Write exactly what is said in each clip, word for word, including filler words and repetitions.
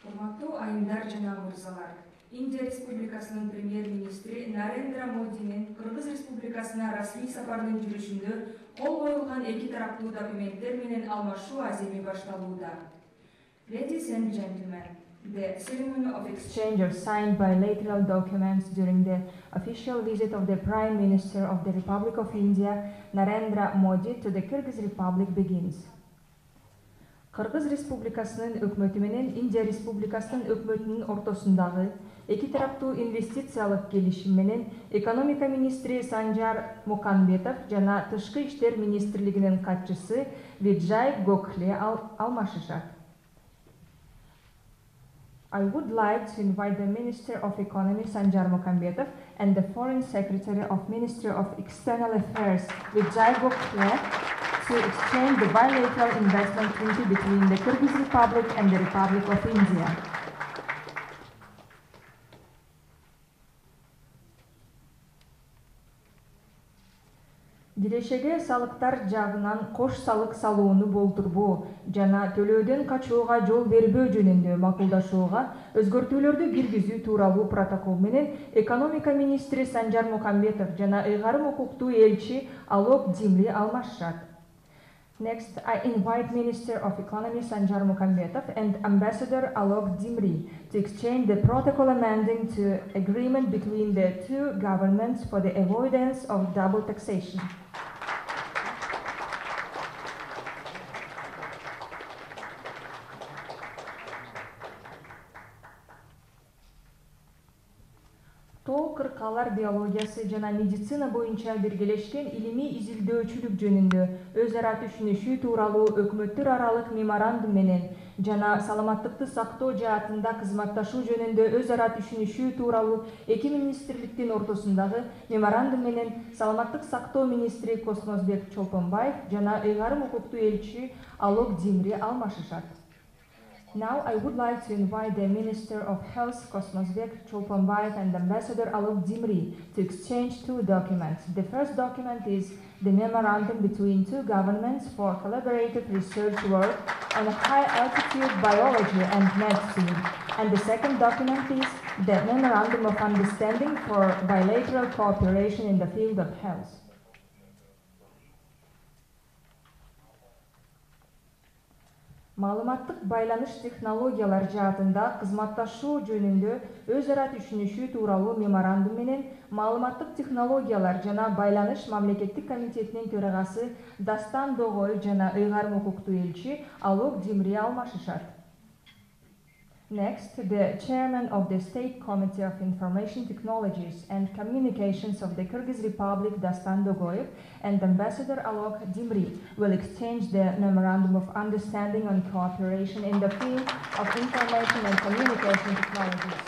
Урматтуу айымдар жана мырзалар, Индия Республикасынын премьер-министри Нарендра Модинин Кыргыз Республикасына расмий сапардын жүрүшүндө кол коюлган эки тараптуу документтер менен алмашуу аземи башталууда. Ladies and gentlemen, the ceremony of exchange of signed bilateral documents during the official visit of the Prime Minister of the Republic of India, Narendra Modi, to the Kyrgyz Republic begins. Кыргыз Республикасынын өкмөтү менен Индия Республикасынын өкмөтүнүн ортосундагы эки тараптуу инвестициялык келишим менен экономика министри Санжар Мукамбетов жана Тышкы иштер министрлигинин катчысы Виджай Гокхле алмашышат. I would like to invite the Minister of Economy Sanjar Mukambetov and the Foreign Secretary of Ministry of External Affairs Vijay Gokhale to exchange the bilateral investment treaty between the Kyrgyz Republic and the Republic of India. Кирешеге салыктар жагынан кош салык салууну болтурбоо жана төлөөдөн качууга жол бербөө жөнүндө макулдашууга өзгөртүүлөрдү киргизүү тууралуу протокол менен экономика министри Санжар Мукамбетов жана ыйгарым укуктуу элчи Алок Димри алмашышат. Next, I invite Minister of Economy Sanjar Mukambetov and Ambassador Alok Dimri to exchange the protocol amending to agreement between the two governments for the avoidance of double taxation. Тоо кыркалар биологиясы жана медицина боюнча биргелешкен илимий изилдөөчүлүк жөнүндө өз ара түшүнүшүү тууралуу өкмөттөр аралык меморандум менен жана саламаттыкты сактоо жаатында кызматташуу жөнүндө өз ара түшүнүшүү тууралуу эки министрликтин ортосундагы меморандум менен саламаттык сактоо министри Космозбек Чолпонбаев жана ыйгарым укуктуу элчи Алок Димри алмашышат. Now I would like to invite the Minister of Health Kosmosbek Cholponbaev and Ambassador Alok Dimri to exchange two documents. The first document is the memorandum between two governments for collaborative research work on high-altitude biology and medicine. And the second document is the memorandum of understanding for bilateral cooperation in the field of health. Маалыматтык байланыш технологиялар жаатында кызматташуу жөнүндө өз ара түшүнүшүү тууралуу меморандум менен маалыматтык технологиялар жана байланыш мамлекеттик комитетинин төрагасы Дастан Догой жана ыйгарым укуктуу элчи Алок Димри алмашышат. Next, the chairman of the State Committee of Information Technologies and Communications of the Kyrgyz Republic, Dastan Dogoyev, and Ambassador Alok Dimri will exchange the Memorandum of Understanding on Cooperation in the field of Information and Communication Technologies.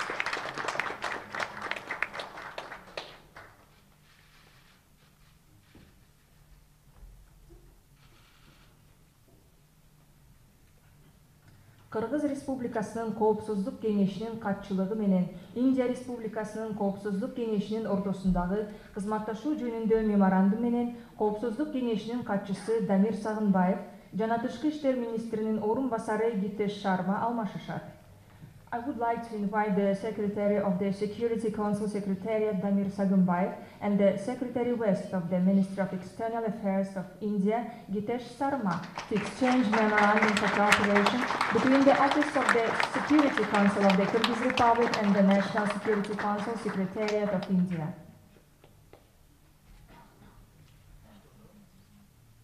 Кыргыз Республикасынын Коопсуздук кеңешинин катчылыгы менен Индия Республикасынын Коопсуздук кеңешинин ортосундагы кызматташуу жөнүндө меморандум менен Коопсуздук кеңешинин катчысы Дамир Сагынбаев жана Тышкы иштер министринин орун басары Гитеш Шарма алмашышат. I would like to invite the Secretary of the Security Council Secretariat Damir Sagunbayev and the Secretary West of the Ministry of External Affairs of India, Gitesh Sarma, to exchange memorandums of cooperation between the Office of the Security Council of the Kyrgyz Republic and the National Security Council Secretariat of India.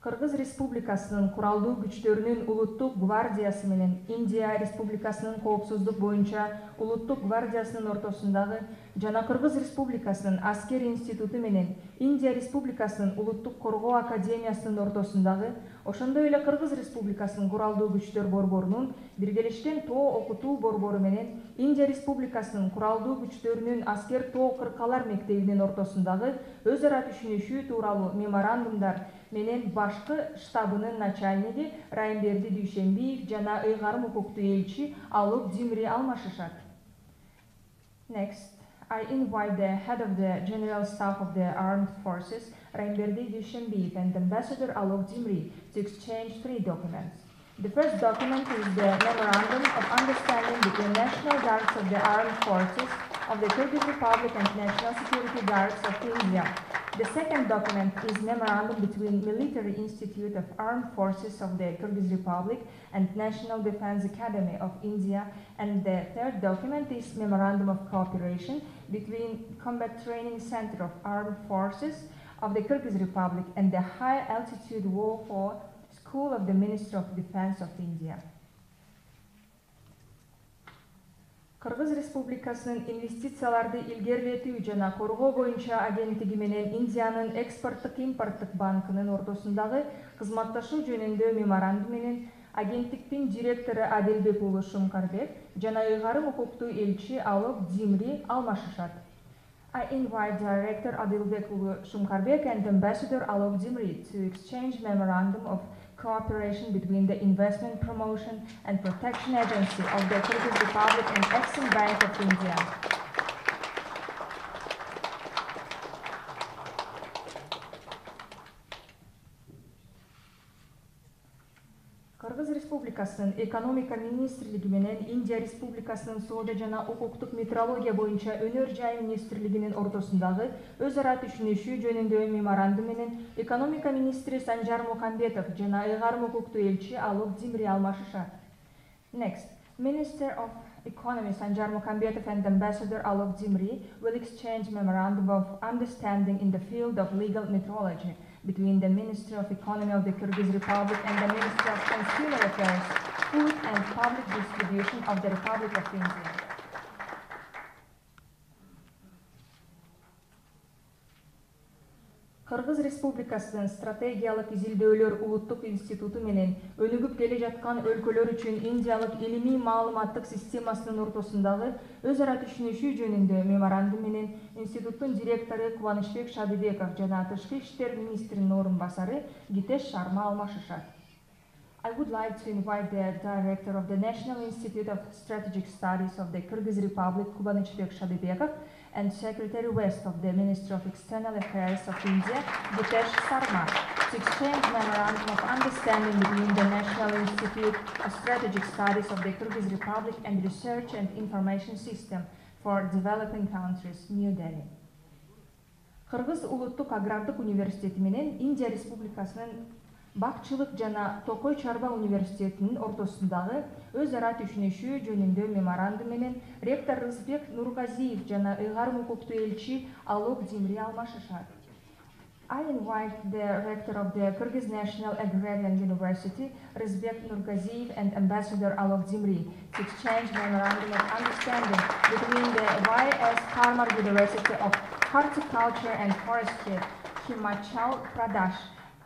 Кыргыз Республикасынын куралдуу күчтөрүнүн улуттук гвардиясы менен Индия Республикасынын коопсуздук боюнча улуттук гвардиясынын ортосундагы жана Кыргыз Республикасынын аскер институту менен Индия Республикасынын улуттук коргоо академиясынын ортосундагы, ошондой эле Кыргыз Республикасынын куралдуу күчтөр борборунун биргелешкен тоо окутуу борбору менен Индия Республикасынын куралдуу күчтөрүнүн аскер тоо кыркалар мектебинин ортосундагы өз ара түшүнүшүү тууралуу меморандумдар менен башкы штабынын начальниги Райымберди Дүйшенбиев жана ыйгарым укуктуу элчи Алок Димри алмашышат. Next, I invite the head of the General Staff of the Armed Forces, Raiymberdi Dushenbeev, and Ambassador Alok Dimri to exchange three documents. The first document is the Memorandum of Understanding between National Guards of the Armed Forces of the Kyrgyz Republic and National Security Guards of India. The second document is memorandum between Military Institute of Armed Forces of the Kyrgyz Republic and National Defense Academy of India, and the third document is memorandum of cooperation between Combat Training Center of Armed Forces of the Kyrgyz Republic and the High Altitude Warfare School of the Ministry of Defense of India. Кыргыз Республикасынын инвестицияларды илгерилетүү жана коргоо боюнча агенттиги менен Индиянын экспорттук импорттук банкынын ортосундагы кызматташуу жөнүндө меморандум менен агенттиктин директору Адилбек уулу Шумкарбек жана ыйгарым укуктуу элчи Алок Дзимри алмашышат. I invite Director Adilbek уулу Шумкарбек and Ambassador Alok Dzimri to exchange memorandum of cooperation between the Investment Promotion and Protection Agency of the Kyrgyz Republic and Exim Bank of India. Кыргыз Республикасынын экономика министрлиги менен Индия Республикасынын соода жана укуктук метрология боюнча өнөр жай министрлигинин ортосундагы өз ара түшүнүшүү жөнүндө меморандум менен экономика министри Санжар Мухамбетов жана ыйгарым укуктуу элчи Алок Дзимри алмашышат. Next, Minister of Economy Sanjar Mukambetov and Ambassador Alok Dzimri will exchange memorandum of understanding in the field of legal metrology between the Ministry of Economy of the Kyrgyz Republic and the Ministry of Consumer Affairs, Food and Public Distribution of the Republic of India. Кыргыз Республикасынын стратегиялык изилдөөлөр улуттук институту менен өнүгүп келе жаткан өлкөлөр үчүн Индиялык илимий маалыматтык системасынын ортосундагы өз ара түшүнүшүү жөнүндө меморандум менен институттун директору Кубанычбек Шадыбеков жана Тышкы иштер министринин орун басары Гитеш Шарма алмашышат. I would like to invite the Director of the National Institute of Strategic Studies of the Kyrgyz Republic, Kubanichbek Shadybekov, and Secretary West of the Ministry of External Affairs of India, Gitesh Sarma, to exchange memorandum of understanding between the National Institute of Strategic Studies of the Kyrgyz Republic and Research and Information System for Developing Countries, New Delhi. Кыргыз улуттук агрардык университети менен Индия Республикасынын Бакчылык жана Токой Чарба университетинин ортосундагы өз ара түшүнүшүү жөнүндө меморандум менен ректор Рызбек Нургазиев жана ыйгарым укуктуу элчи Алок Дзимри алмашышат. I invite the rector of the Kyrgyz National Agrarian University, Rızbek Nurgaziev, and Ambassador Alok Dzimri to exchange memorandum of understanding between the Y S Parmar University of Horticulture and Forestry, Himachal Pradesh,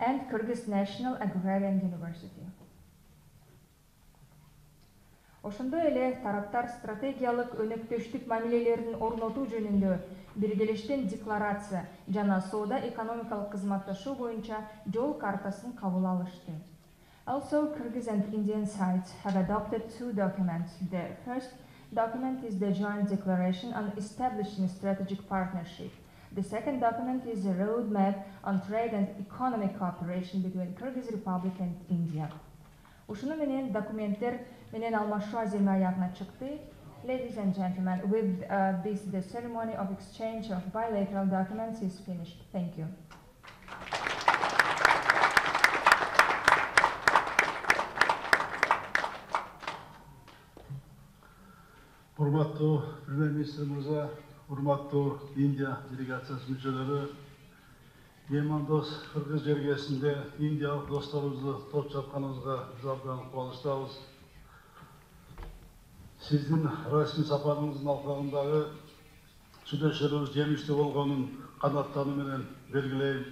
and Kyrgyz National Agrarian University. Ошондой эле тараптар стратегиялык өнөктөштүк мамилелерин орнотуу жөнүндө биргелештен декларация жана соода экономикалык кызматташуу боюнча жол картасын кабыл алышты. Also, Kyrgyz and Indian sides have adopted two documents. The first document is the joint declaration on establishing strategic partnership. The second document is a roadmap on trade and economic cooperation between Kyrgyz Republic and India. Ушуну менен документтер менен алмашуу азыркы аягына чыкты. Ladies and gentlemen, with uh, this, the ceremony of exchange of bilateral documents is finished. Thank you. Урматтуу Премьер-министр мырза, урматтуу Индия делегациясынын мүчөлөрү, Меймандос Кыргыз жергесинде индиялык досторубузду топ чапканыбызга биз абдан кубанычтабыз. Сиздин расмий сапарыңыздын алкагындагы сүйлөшүүлөрүбүз жемиштүү болгонун канаттануу менен белгилейм.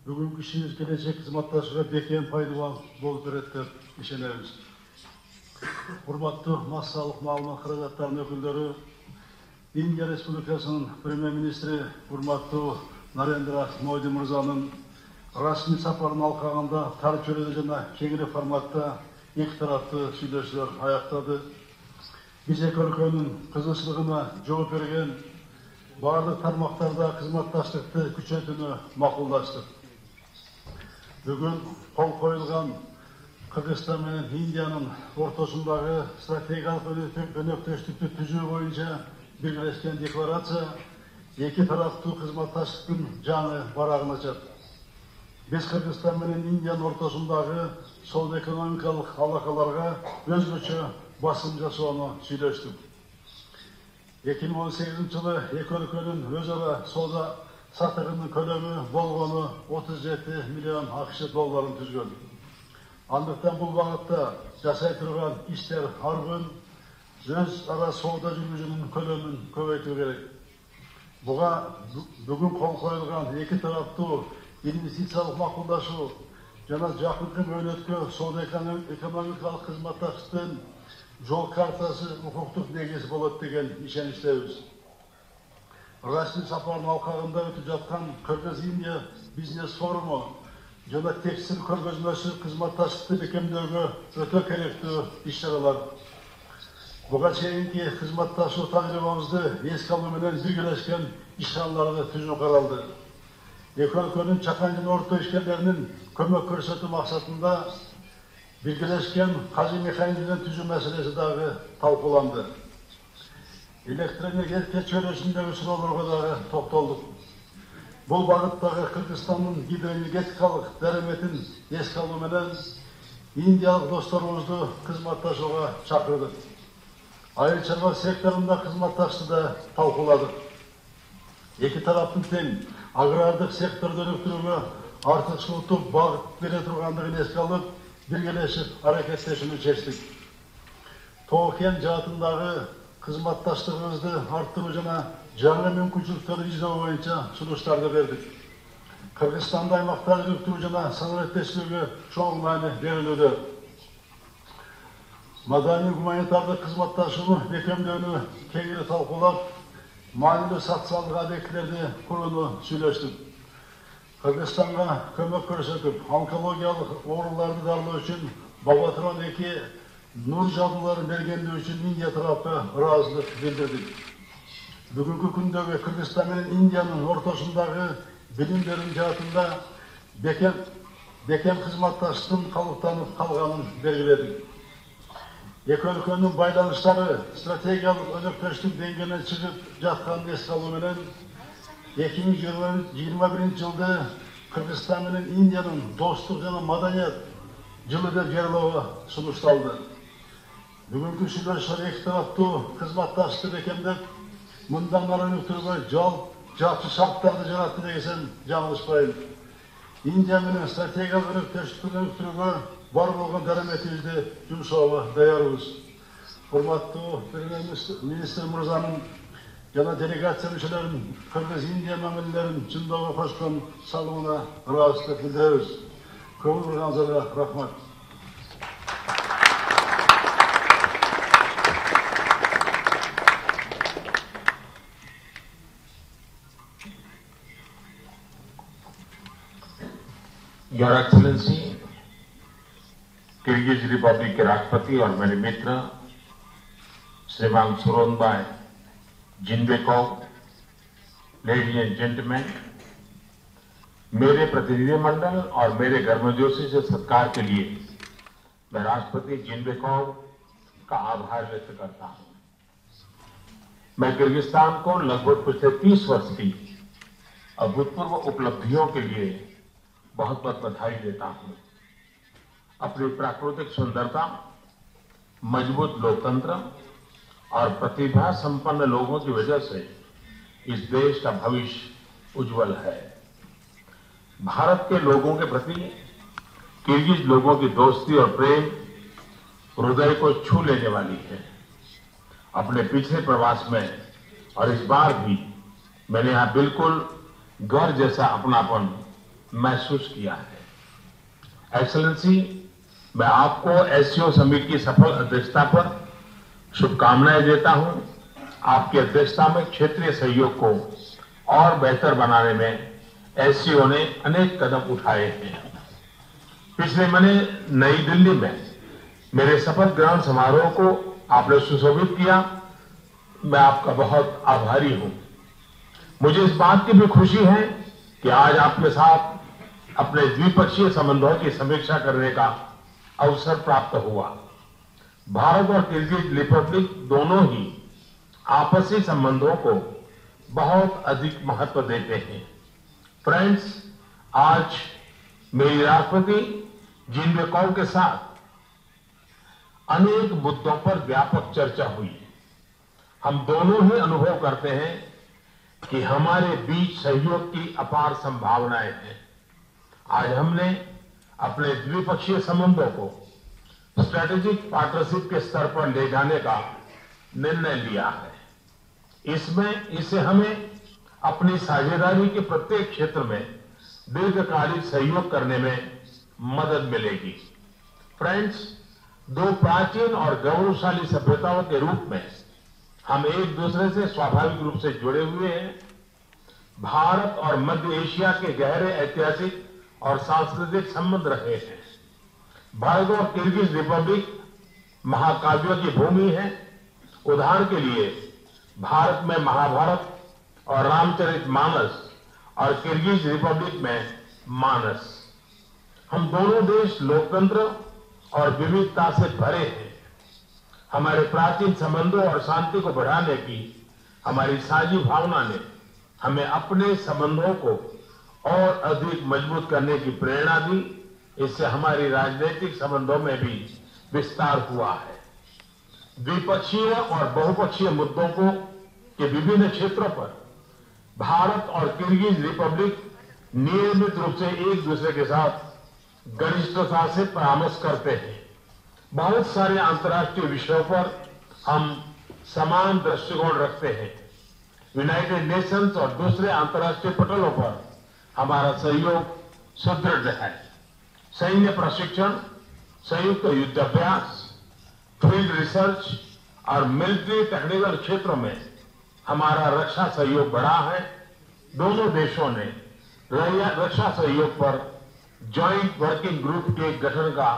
Бүгүнкү ишибиз келечек кызматташууга бекем пайдалуу болуп берет деп ишенебиз. Урматтуу массалык маалымат каражаттарынын өкүлдөрү, Индия Республикасынын Премьер-министри урматтуу Нарендра Моди мырзанын расмий сапарынын алкагында тар чөйрөдө жана кеңири форматта эки тараптуу сүйлөшүүлөр аяктады. Биз эки өлкөнүн кызычылыгына жооп берген бардык тармактарда кызматташтыкты күчөтүүнү макулдаштык. Бүгүн кол коюлган Кыргызстан менен Индиянын ортосундагы стратегиялык өнөктөштүктү түзүү боюнча биргелешкен декларация эки тараптуу кызматташтыктын жаңы барагын ачат. Биз Кыргызстан менен Индиянын ортосундагы соода экономикалык алакаларга өзгөчө басым жасоону сүйлөштүк. эки миң он сегизинчи жылы эки өлкөнүн өз ара соода сатыгынын көлөмү болгону отуз жети миллион АКШ долларын түзгөн. Андыктан бул багытта жасай турган иштер ар күн өз ара соода жүргүзүүнүн көлөмүн көбөйтүү керек. Буга бүгүн кол коюлган эки тараптуу инвестициялык макулдашуу жана жакынкы мөөнөткө соода экономикалык кызматташтыктын жол картасы укуктук негиз болот деген ишеничтебиз. Расмий сапардын алкагында өтүп жаткан Кыргыз-Индия бизнес форуму жана текстиль көргөзмөсү кызматташтыкты бекемдөөгө өтө керектүү иш-чаралар. Буга чейинки кызматташуу тажрыйбабызды эске алуу менен биргелешкен иш-чараларды түзүү каралды. Эки өлкөнүн чакан жана орто ишкерлеринин көмөк көрсөтүү максатында биргелешкен кажы механизмдерин түзүү маселеси дагы талкууланды. Электроэнергетика чөйрөсүндөгү суроолорго дагы токтолдук. Бул багыттагы Кыргызстандын гидроэнергетикалык дараметин эске алуу менен индиялык досторубузду кызматташууга чакырдык. Айыл чарба секторунда кызматташты да талкууладык. Эки тараптын тең агрардык секторду өнүктүрүүгө артыкчылыктуу багыт бере тургандыгын эске алып, биргелешип аракеттешүүнү чечтик. Тоо кен жаатындагы кызматташтыгыбызды арттыруу жана жаңы мүмкүнчүлүктөрдү изилөө боюнча сунуштарды бердик. Кыргызстанда аймактарды өнүктүрүү жана санариптештирүүгө чоң маани берилүүдө. Маданий гуманитардык кызматташууну бекемдөөнү кеңири талкуулап, маанилүү социалдык объектилерди курууну сүйлөштүк. Кыргызстанга көмөк көрсөтүп, онкологиялык ооруларды дарылоо үчүн Бабатрон эки нур жабдууларын бергендиги үчүн Индия тарапка ыраазычылык билдирдик. Бүгүнкү күндөгү Кыргызстан менен Индиянын ортосундагы билим берүү жаатында бекем бекем кызматташтыктын калыптанып калганын белгиледик. Эки өлкөнүн байланыштары стратегиялык өнөктөштүк деңгээлине чыгып жатканын эске алуу менен эки миң жыйырма биринчи жылды Кыргызстан менен Индиянын достук жана маданият жылы деп жарыялоо сунушталды. Бүгүнкү сүйлөшүүлөр эки тараптуу кызматташтыкты бекемдеп, мындан ары өнүктүрүүгө жол жакшы шарттарды жаратты десем жаңылышпайм. Индия менен стратегиялык өнөктөштүктү өнүктүрүүгө бар болгон дараметибизди жумшоого даярбыз. Урматтуу премьер-министр мырзанын жана делегация мүчөлөрүнүн Кыргыз-Индия мамилелерин чындоого кошкон салымына ыраазычылык билдиребиз. Көңүл бурганыңыздарга рахмат. Your Excellency, Kyrgyz Republic के राष्ट्रपति और मेरे मित्र श्रीमान सूरोनबाई जिनबेकोव, ladies and gentleman, मेरे प्रतिनिधिमंडल और मेरे गर्मजोशी से सत्कार के लिए मैं राष्ट्रपति जिनबेकोव का आभार व्यक्त करता हूं। मैं किर्गिस्तान को लगभग पिछले तीस वर्ष की अभूतपूर्व उपलब्धियों के लिए बहुत बहुत बधाई देता हूं। अपनी प्राकृतिक सुंदरता, मजबूत लोकतंत्र और प्रतिभा संपन्न लोगों की वजह से इस देश का भविष्य उज्जवल है। भारत के लोगों के प्रति किर्गिज लोगों की दोस्ती और प्रेम हृदय को छू लेने वाली है। अपने पिछले प्रवास में और इस बार भी मैंने यहाँ बिल्कुल घर जैसा अपनापन महसूस किया है। एक्सेलेंसी, मैं आपको एससीओ समिट की सफल अध्यक्षता पर शुभकामनाएं देता हूं। आपकी अध्यक्षता में क्षेत्रीय सहयोग को और बेहतर बनाने में एससीओ ने अनेक कदम उठाए हैं। पिछले महीने नई दिल्ली में मेरे शपथ ग्रहण समारोह को आपने सुशोभित किया। मैं आपका बहुत आभारी हूं। मुझे इस बात की भी खुशी है कि आज आपके साथ अपने द्विपक्षीय संबंधों की समीक्षा करने का अवसर प्राप्त हुआ। भारत और किर्गिज रिपब्लिक दोनों ही आपसी संबंधों को बहुत अधिक महत्व देते हैं। फ्रेंड्स, आज मेरी राष्ट्रपति जीनबेकॉव के साथ अनेक मुद्दों पर व्यापक चर्चा हुई। हम दोनों ही अनुभव करते हैं कि हमारे बीच सहयोग की अपार संभावनाएं हैं। आज हमने अपने द्विपक्षीय संबंधों को स्ट्रेटेजिक पार्टनरशिप के स्तर पर ले जाने का निर्णय लिया है। इसमें इससे हमें अपनी साझेदारी के प्रत्येक क्षेत्र में दीर्घकालिक सहयोग करने में मदद मिलेगी। फ्रेंड्स, दो प्राचीन और गौरवशाली सभ्यताओं के रूप में हम एक दूसरे से स्वाभाविक रूप से जुड़े हुए हैं। भारत और मध्य एशिया के गहरे ऐतिहासिक और सांस्कृतिक संबंध रहे हैं। भारत और किर्गिज रिपब्लिक महाकाव्यों की भूमि है। उदाहरण के लिए भारत में महाभारत और रामचरितमानस और किर्गिज रिपब्लिक में मानस। हम दोनों देश लोकतंत्र और विविधता से भरे हैं। हमारे प्राचीन संबंधों और शांति को बढ़ाने की हमारी साझी भावना ने हमें अपने संबंधों को और अधिक मजबूत करने की प्रेरणा दी। इससे हमारी राजनीतिक संबंधों में भी विस्तार हुआ है। द्विपक्षीय और बहुपक्षीय मुद्दों को के विभिन्न क्षेत्रों पर भारत और किर्गिज रिपब्लिक नियमित रूप से एक दूसरे के साथ घनिष्ठता से परामर्श करते हैं। बहुत सारे अंतर्राष्ट्रीय विषयों पर हम समान दृष्टिकोण रखते हैं। यूनाइटेड नेशंस और दूसरे अंतर्राष्ट्रीय पटलों पर हमारा सहयोग सुदृढ़ है। सैन्य प्रशिक्षण, संयुक्त युद्धाभ्यास, फील्ड रिसर्च और मिलिट्री टेक्निकल क्षेत्रों में हमारा रक्षा सहयोग बढ़ा है। दोनों देशों ने रक्षा सहयोग पर जॉइंट वर्किंग ग्रुप के गठन का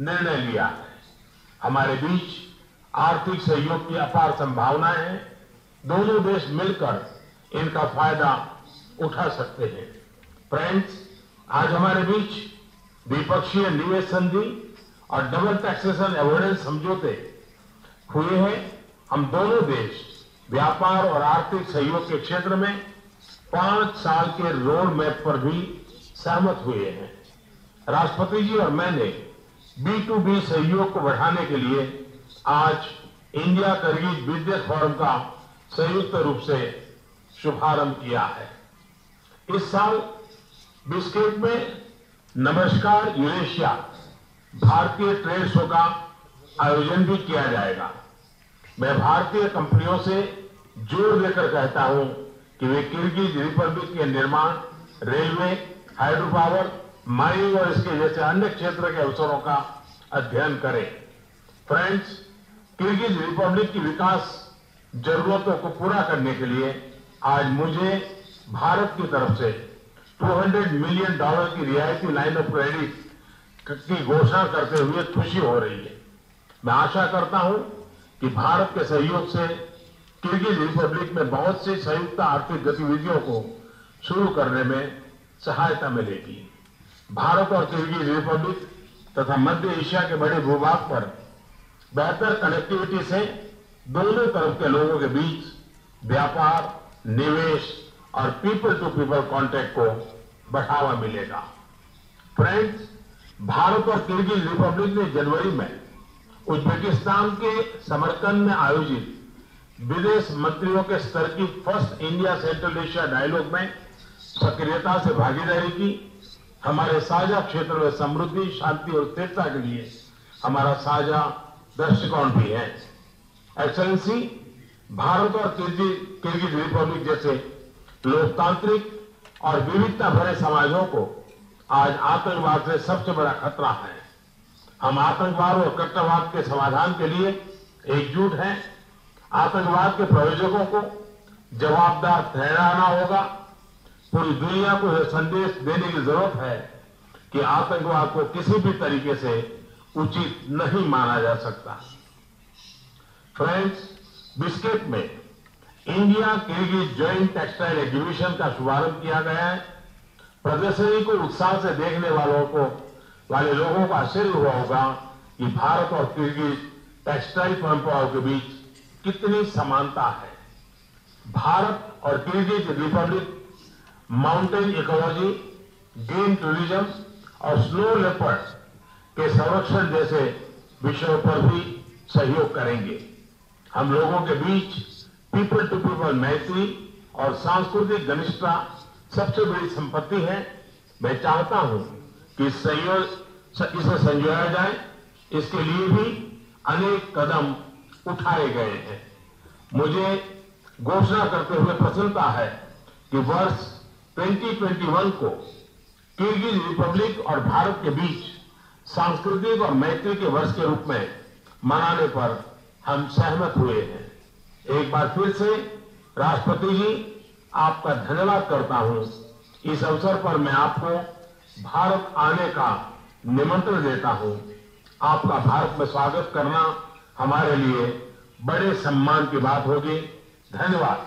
निर्णय लिया है। हमारे बीच आर्थिक सहयोग की अपार संभावनाएं हैं। दोनों देश मिलकर इनका फायदा उठा सकते हैं। फ्रेंड्स, आज हमारे बीच द्विपक्षीय निवेश संधि और डबल टैक्सेशन अवॉइडेंस समझौते हुए हैं। हम दोनों देश व्यापार और आर्थिक सहयोग के क्षेत्र में पांच साल के रोड मैप पर भी सहमत हुए हैं। राष्ट्रपति जी और मैंने बी टू बी सहयोग को बढ़ाने के लिए आज इंडिया किर्गिज बिजनेस फोरम का संयुक्त रूप से शुभारंभ किया है। इस साल बिस्केट में नमस्कार यूरेशिया भारतीय ट्रेड शो का आयोजन भी किया जाएगा। मैं भारतीय कंपनियों से जोर देकर कहता हूं कि वे किर्गिज रिपब्लिक के निर्माण, रेलवे, हाइड्रो पावर, माइनिंग और इसके जैसे अन्य क्षेत्र के अवसरों का अध्ययन करें। फ्रेंड्स, किर्गिज रिपब्लिक की विकास जरूरतों को पूरा करने के लिए आज मुझे भारत की तरफ से दो सौ मिलियन डॉलर की रियायती लाइन ऑफ क्रेडिट की घोषणा करते हुए खुशी हो रही है। मैं आशा करता हूं कि भारत के सहयोग से किर्गिज रिपब्लिक में बहुत सी संयुक्त आर्थिक गतिविधियों को शुरू करने में सहायता मिलेगी। भारत और किर्गिज रिपब्लिक तथा मध्य एशिया के बड़े भूभाग पर बेहतर कनेक्टिविटी से दोनों तरफ के लोगों के बीच व्यापार, निवेश और पीपल टू पीपल कांटेक्ट को बढ़ावा मिलेगा। फ्रेंड्स, भारत और किर्गिज रिपब्लिक ने जनवरी में उज्बेकिस्तान के समरकंद में आयोजित विदेश मंत्रियों के स्तर की first India Central Asia dialogue में सक्रियता से भागीदारी की। हमारे साझा क्षेत्र में समृद्धि, शांति और स्थिरता के लिए हमारा साझा दृष्टिकोण भी है। एक्सेलेंसी, भारत और किर्गिज रिपब्लिक जैसे लोकतांत्रिक और विविधता भरे समाजों को आज आतंकवाद से सबसे बड़ा खतरा है। हम आतंकवाद और कट्टरवाद के समाधान के लिए एकजुट हैं। आतंकवाद के प्रायोजकों को जवाबदार ठहराना होगा। पूरी दुनिया को यह संदेश देने की जरूरत है कि आतंकवाद को किसी भी तरीके से उचित नहीं माना जा सकता। फ्रेंड्स, बिस्केट में India Kyrgyz joint textile exhibition का शुभारंभ किया गया है। प्रदर्शनी को उत्साह से देखने वालों को वाले लोगों को आश्चर्य हुआ होगा कि भारत और किर्गिज टेक्सटाइल परंपराओं के बीच कितनी समानता है। भारत और Kyrgyz Republic mountain ecology, green tourism और स्नो लेपर्ड के संरक्षण जैसे विषयों पर भी सहयोग करेंगे। हम लोगों के बीच पीपल टू पीपल मैत्री और सांस्कृतिक घनिष्ठता सबसे बड़ी संपत्ति है। मैं चाहता हूं कि संयोग इसे संजोया जाए। इसके लिए भी अनेक कदम उठाए गए हैं। मुझे घोषणा करते हुए प्रसन्नता है कि वर्ष दो हज़ार इक्कीस को किर्गिज रिपब्लिक और भारत के बीच सांस्कृतिक और मैत्री के वर्ष के रूप में मनाने पर हम सहमत हुए हैं। एक बार फिर से राष्ट्रपति जी, आपका धन्यवाद करता हूं। इस अवसर पर मैं आपको भारत आने का निमंत्रण देता हूं। आपका भारत में स्वागत करना हमारे लिए बड़े सम्मान की बात होगी। धन्यवाद।